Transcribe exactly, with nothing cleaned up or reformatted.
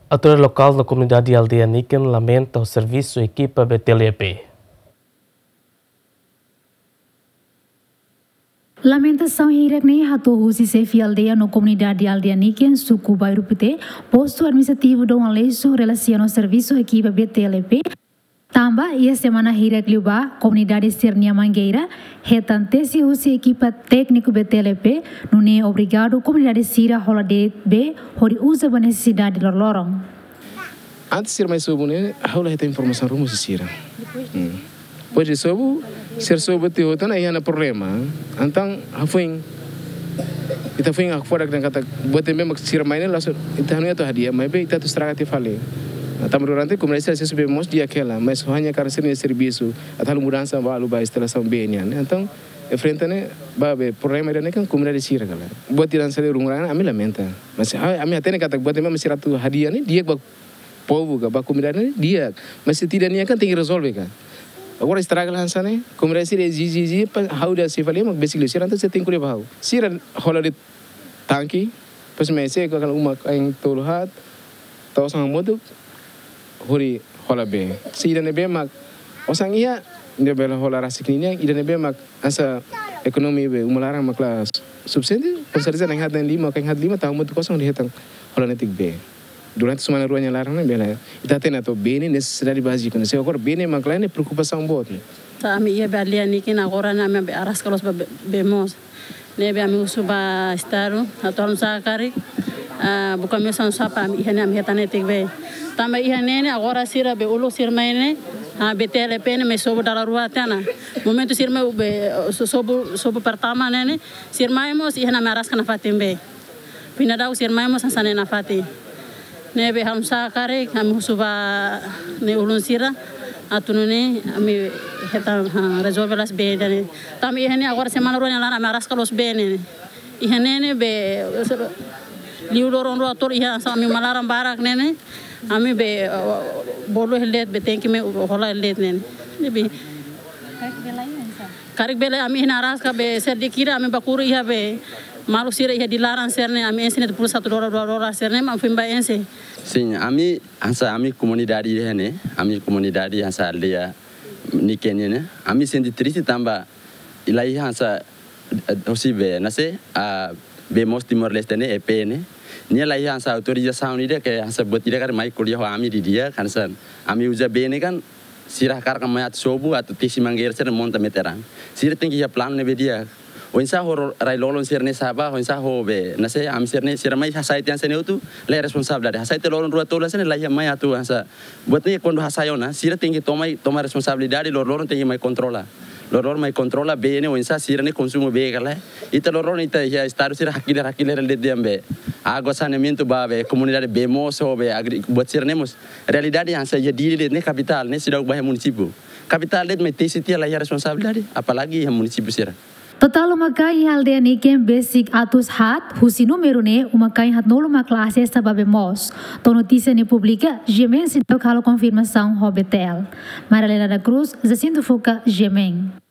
Autoridade lokál no komunidade aldeia niken lamenta ho servisu ekipa B T L E P. Lamentasaun hirak ne'e hato'o husi xefe aldeia no komunidade aldeia niken, suku Bairru Pité, postu administrativu Dom Aleixo, relasiona ho servisu ekipa B T L E P. Tanba iha semana hirak liubá, komunidade sira-nia mangeira hetan tesi husi ekipa tékniku B T L E P, nune'e obriga komunidade sira hola de'it bee hodi uza ba nesesidade loroloron. Antes sira mai sobu ne'e, ha'u la hetan informasaun ruma husi sira. Hmm. Depois de sobu, sira sobu tiha hotu ona iha ona problema. Entaun, hafoin, ita foin hakfodak dehan katak buat ne'ebé mak sira mai ne'e, langsung ita hanoin atu hadi'a, maibé ita atu estraga tiha fali. Nah, tanba durante komunidade sira asesu bee moos di'ak hela, mas hanya karena sira-nia servisu atu halo mudansa balu ba instalasaun bee nian. Entaun, enfrenta ne'e, ba bee problema ida-ne'e kan komunidade sira kala. Buat ida hanesan ne'e rungurang, ami lamenta. Mas, ah, ami hatene katak buat ne'ebé mak sira atu hadi'a ne'e di'ak ba povu ka, ba komunidade ne'e di'ak. Mas se tidak nian kan tenke rezolve ka. Agora estraga la hanesan ne'e, komunidade sira ezije, ezije, pa, ha'u dehan xefe aldeia mak besik liu sira, entaun sira tenke ko'alia ba ha'u. Sira hola de'it tanke, depois mai seku kala uma-kain tolu haat, tau osan hamutuk, hodi hola bee. Se ida ne'ebé mak osan iha, nia bele hola rasik ninian, ida ne'ebé mak hanesan ekonomia bee uma laran mak la sufisiente, com certeza na'in haat na'in lima, kain haat lima, tau hamutuk osan hodi hetan hola netik bee. Durante semana rua nia laran ne'e bele. Ita hatene atu bee ne'e nesesidade báziku ne'e. Se agora bee ne'e mak lae ne'e preokupasaun boot ne'e. Ita ami iha bee aldeia niken agora ne'e ami be araska loos ba bee, bee moos. Ne'ebé ami husu ba Estadu, atu halo nu'usá karik, ah, buka meius oinsá para ami iha ne'e ami hetan netik bee. Tanba iha ne'e ne'e agora sira bee uluk sira mai ne'e, ah, B T L E P ne'e mai sobu dala rua tiha ona. Momentu sira mai bee, so-, sobu, sobu pertama ne'e ne'e, sira mai mós iha ne'e ami araska nafatin bee. Pinda daudauk sira mai mós hanesan ne'e nafatin. Ne'ebé halo nu'usá karik, ami husu ba ne'e ulun sira, atu nune'e ami hetan, ha, rezolve loos bee ida-ne'e. Tanba iha ne'e agora semana rua nia laran ami araska loos bee ne'e. Iha ne'e ne'e bee, liu loron rua tolu iha hanesan ami uma laran barak ne'e ne'e. Ami bee, eh, bolu hela de'it bee tenke mai hola hela de'it ne'e ne'e. Ne'ebé. Karik bele ami iha ne'e araska bee sira di'ak ida ami bá kuru iha bee maluk sira iha di laran sira ne'e ami ense netik pulsa satu dolar dua dolar sira ne'e ami foin bá ense. Sin, ami hanesan ami komunidade iha ne'e, ami komunidade hanesan aldeia niken ne'e, ami sente triste tanba la iha hanesan, eh, hosi bee, nase, ah, bee moos Timor-Leste ne'e, E P ne'e. Nia la iha hanesan autorizasaun ida ke hanesan buat ida karik mai ko'alia ho ami didi'ak, hanesan ami uza bee ne'e kan, sira hakarak mai atu sobu, atu tesi mangeira sira monta meteran. Sira tenke iha planu ne'ebé di'ak. Oinsá ho rai-lolon sira-ne'e sa'e bá, oinsá ho bee, nase, ami sira-ne'e, sira mai hasai tiha hanesan ne'e hotu, la iha responsabilidade. Hasai tiha loron rua tolu hanesan ne'e la iha mai atu hanesan. Buat ne'e kuandu hasai ona, sira tenke toma, toma responsabilidade, loroloron tenke mai kontrola. Loroloron mai kontrola bee ne'e oinsá sira-ne'e konsumu bee ka lae. Ita loroloron ita iha estadu sira hakilar, hakilar de'it dehan bee. Água, saneamentu ba bee, komunidade bee moos ho bee, agri-, buat sira-ne'e mós. Realidade hanesan iha Dili de'it ne'e kapitál ne'e seidauk bá iha munisípiu. Kapitál de'it mai tesi tiha la iha responsabilidade, apalagi iha munisípiu sira. Totál uma-kain iha aldeia niken besik atus haat, husi númeru ne'e uma-kain haatnulu mak la asesa ba bee moos. To'o notísia ne'e publika, GMN seidauk halo konfirmasaun ho B T L. Maria Helena da Cruz, Jacinto Fuca, GMN.